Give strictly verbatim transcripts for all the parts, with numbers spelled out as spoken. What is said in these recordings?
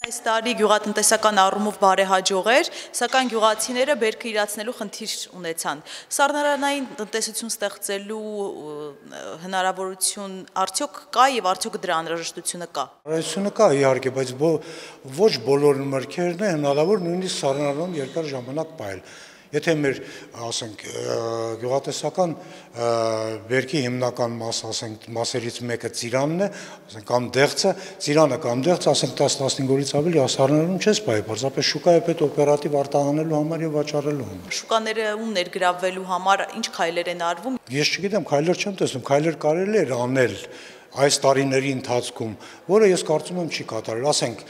Այս տարի գյուղատնտեսական առումով բարեհաջող էր, սակայն գյուղացիները բերքը իրացնելու խնդիր ունեցան։ Սառնարանային տնտեսություն ստեղծելու հնարավորություն արդյոք կա եւ արդյոք դրա անհրաժեշտությունը կա։ Անհրաժեշտությունը կա իհարկե, բայց ոչ բոլոր մրգերն է հնարավոր նույնիսկ սառնարանում երկար ժամանակ պահել։ Եթե մեր, ասենք, գյուղատնտեսական բերքի հիմնական մաս, ասենք, մասերից մեկը ծիրանն է, ասենք, կամ դեղցը, ծիրանը կամ դեղցը, ասենք, տասը-տասնհինգ օրից ավելի սառնարանում չես պահի, պարզապես շուկայի հետ օպերատիվ արտահանելու համար եւ վաճառելու համար։ Շուկաները ու ներգրավվելու համար ինչ քայլեր են արվում։ Ես չգիտեմ, քայլեր չեմ տեսնում, քայլեր կարելի է անել այս տարիների ընթացքում, որը ես կարծում եմ չի կատարել, ասենք,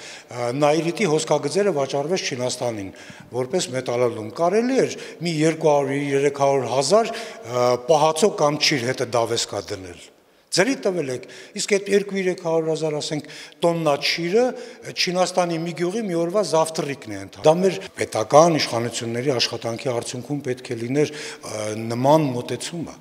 նայրիտի հոսքագծերը վաճառվեց Չինաստանին, որպես մետալոլում, կարելի էր մի երկու հարյուր երեք հարյուր հազար պահածո կամ չիր հետը դավեսկա դնել, ձերի տվել եք, իսկ այդ երկու-երեք հարյուր հազար, ասենք, տոննա չիրը Չինաստանի մի գյուղի մի օրվա զավթռիկն է ընդհանրում։ Դա մեր պետական իշխանությունների աշխատանքի արդյունքում պետք է լիներ նման մոտեցումը։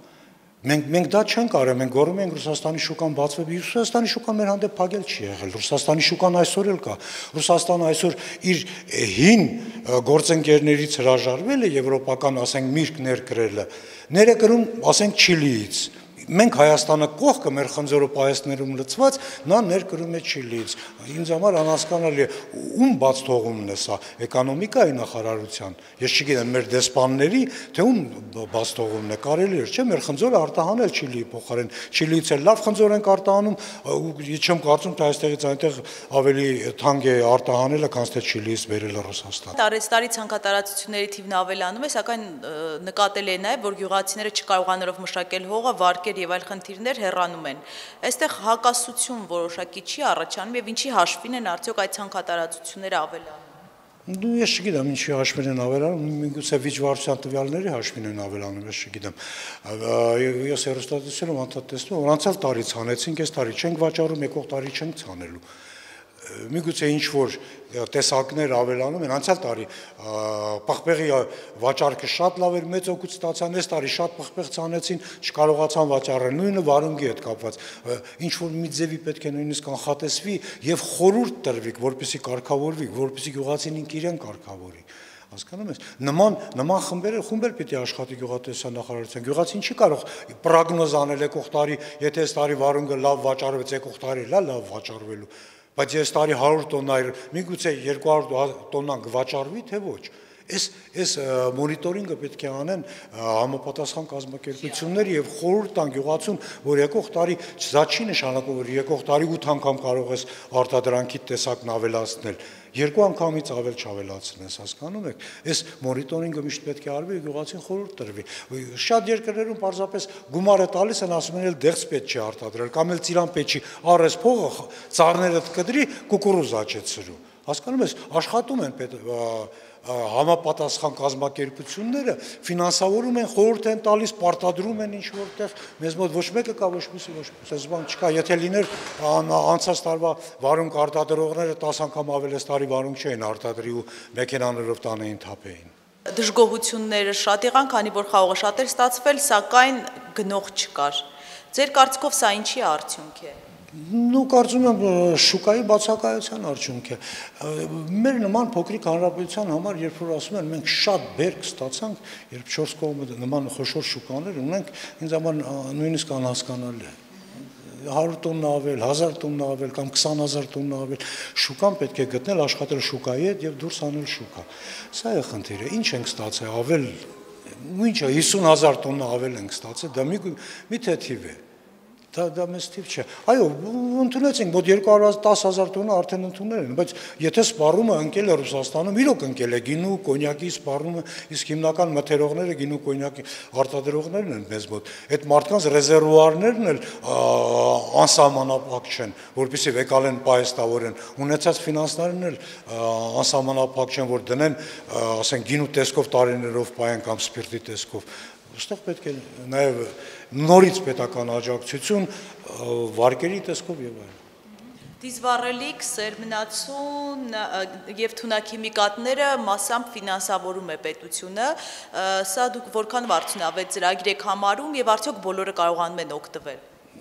Մենք մենք դա չենք արել, մենք գոռում ենք Ռուսաստանի շուկան բացվի, Ռուսաստանի շուկան մեր հանդեպ փակել չի եղել, Ռուսաստանի շուկան այսօր էլ կա, Ռուսաստանը այսօր իր հին գործընկերներից հրաժարվել է եվրոպական, ասենք, միրգ ներկրելը, ներկրում, ասենք, Չիլիից, մենք Հայաստանը կողքը մեր խնձորը պահեստներում լցված, նա ներկրում է Չիլիից, ինձ համար անհասկանալի է, ում բաց թողումն է սա, էկոնոմիկայի նախարարության, ես չգիտեմ մեր դեսպանների, թե ում բաց թողումն է, կարելի էր, չէ, մեր խնձորը արտահանել Չիլիի փոխարեն, Չիլիից էլ լավ խնձոր ենք արտահանում, չեմ կարծում, թե այստեղից այնտեղ ավելի թանկ է արտահանելը, քան թե Չիլիից բերելը Ռուսաստան։ Տարեցտարի ցանկատարածությունների թիվն ավելանում է, սակայն նկատել է նաև, որ գյուղացիները չկարողանալով մշակել հողը, վարկեր եւ այլ խնդիրներ հեռանում են։ Այստեղ հակասություն որոշակի չի առաջանում եւ ինչի հաշվին են արդյոք այդ ցանկատարածությունները ավելանում։ Դու ես չգիտեմ ինչի հաշվին են ավելանում, միգուցե վիճվարության տվյալների հաշվին են ավելանում, ես չգիտեմ։ Ես հեռուստատեսիլում անդադ տեսնում, որ անցյալ տարի ցանեցինք, այս տարի չենք վաճառում, եկող տարի չենք ցանելու։ Միգուցե ինչ-որ տեսակներ ավելանում են, անցյալ տարի պղպեղի վաճառքը շատ լավ էր, մեծ օգուտ ստացան, այս տարի շատ պղպեղ ցանեցին, չկարողացան վաճառել, նույնը վարունգի հետ կապված, ինչ-որ մի ձևի պետք է նույնիսկ անխատեսվի եւ խորհուրդ տրվի, որպեսզի կարգավորվի, որպեսզի գյուղացին իրեն կարգավորի։ Հասկանում ես, նման նման խմբերը խումբեր պիտի աշխատի գյուղատնտեսության նախարարության, գյուղացին չի կարող պրոգնոզ անել եկող տարի, եթե այս տարի վարունգը լավ վաճառվեց, եկող տարի լա լավ վաճառվելու, բայց այս տարի հարյուր տոննա, միգուցե երկու հարյուր տոննան կվաճառվի, թե ոչ։ Այս այս մոնիտորինգը պետք է անեն համապատասխան կազմակերպություններ եւ խորհուրդ տան գյուղացուն, որ եկող տարի սա չի նշանակում, որ եկող տարի ութ անգամ կարող ես արտադրանքի տեսակն ավելացնել, երկու անգամից ավել չավելացնես, հասկանում եք։ Այս մոնիտորինգը միշտ պետք է արվի, գյուղացին խորհուրդ տրվի։ Շատ երկրներում պարզապես գումարը տալիս են, ասում են, էլ դեղց պետք չի արտադրել, կամ էլ ծիրան պետք չի, առես փողը ծառները կդրի, կուկուրուզա չէ ծրու։ Հասկանում ես, աշխատում են համապատասխան կազմակերպությունները, ֆինանսավորում են, խորհուրդ են տալիս, պարտադրում են ինչ որտեղ, մեզ մոտ ոչ մեկը կա, ոչ մյուսը ոչ մյուսը, այս բան չկա, եթե լիներ անցած տարվա վարունգ արտադրողները տասը անգամ ավել այս տարի վարունգ չէին արտադրի ու մեքենաներով տանեին թափեին։ Դժգոհությունները շատ եղան, քանի որ խաղողը շատ էր ստացվել, սակայն գնող չկար։ Ձեր կարծիքով սա ինչի արդյունք է։ Նու կարծում եմ շուկայի բացակայության արդյունք է։ Մեր նման փոքրիկ հանրապետության համար, երբ որ ասում են մենք շատ բերք ստացանք, երբ չորս կողմը նման խոշոր շուկաներ ունենք, ինձ համար նույնիսկ անհասկանալի է։ հարյուր տոննա ավել, հազար տոննա ավել կամ քսան հազար տոննա ավել, շուկան պետք է գտնել, աշխատել շուկայի հետ եւ դուրս անել շուկա։ Սա է խնդիրը, ինչ ենք ստացել, ավել, ինչը հիսուն հազար տոննա ավել ենք ստացել, դա մի թեթիվ է։ Դա դա մեծ թիվ չէ։ Այո, ընդունեցինք, մոտ երկու հարյուր տասը հազար տոննա արդեն ընդունել են, բայց եթե սպառումը ընկել է Ռուսաստանում, իրոք ընկել է գինու, կոնյակի սպառումը, իսկ հիմնական մթերողները գինու կոնյակի արտադրողներն են մեզ մոտ։ Այդ մարդկանց ռեզերվուարներն էլ անսահմանափակ չեն, որպեսզի վեկալեն պահեստավորեն, ունեցած ֆինանսներն էլ անսահմանափակ չեն, որ դնեն, ասենք, գինու տեսքով տարիներով պահեն կամ սպիրտի տեսքով։ Այստեղ պետք է նաև նորից պետական աջակցություն վարկերի տեսքով եւ այլն։ Դիզվառելիք, սերմնացուն եւ թունաքիմիկատները մասամբ ֆինանսավորում է պետությունը, սա դուք որքան արդյունավետ ծրագիր եք համարում եւ արդյոք բոլորը կարողանում են օգտվել։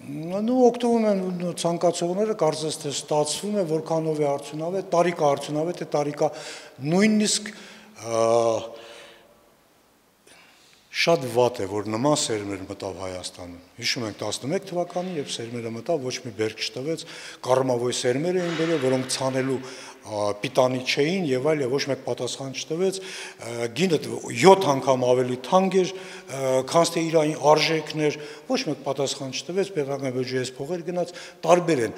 Նու օգտվում են ցանկացողները, կարծես թե ստացվում է, որքանով է արդյունավետ, տարիքա արդյունավետ է, տարիքա նույնիսկ շատ վատ է, որ նման սերմեր մտավ Հայաստանում։ Հիշում ենք տասնմեկ թվականին, երբ սերմերը մտավ, ոչ մի բերք չտվեց, կառմավոյ սերմեր էին բերել, որոնք ցանելու պիտանի չէին եւ այլ եւ ոչ մեկ պատասխան չտվեց, գինը յոթ անգամ ավելի թանկ էր, քան թե իր արժեքն էր, ոչ մեկ պատասխան չտվեց, պետական բյուջեից փողեր գնաց, տարբեր են։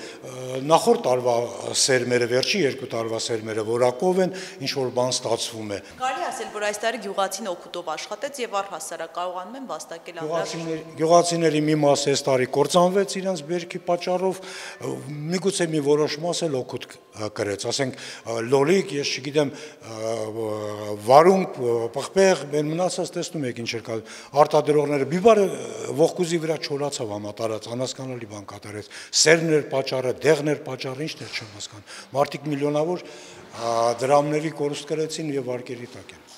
Նախորդ տարվա սերմերը, վերջի երկու տարվա սերմերը որակով են, ինչ որ բան ստացվում է։ Կարելի ասել, որ այս տարի գյուղացին օգուտով աշխատեց եւ առհասարակ կարողանում են վաստակել ամբողջ գյուղացիների մի մասը այս տարի կործանվեց իրենց բերքի պատճառով, միգուցե մի որոշ մաս էլ օգուտ կրեց, ասենք լոլիկ, ես չգիտեմ, վարունգ, պղպեղ, մեն մնացած տեսնում եք ինչ էր կա, արտադրողները բիբարը ողկուզի վրա չորացավ համատարած, անհասկանալի բան կատարեց, սերմներ պատճառը, դեղներ պատճառը, ինչն էր չեմ հասկանում, մարդիկ միլիոնավոր դրամների կորուստ կրեցին եւ վարկերի տակ են։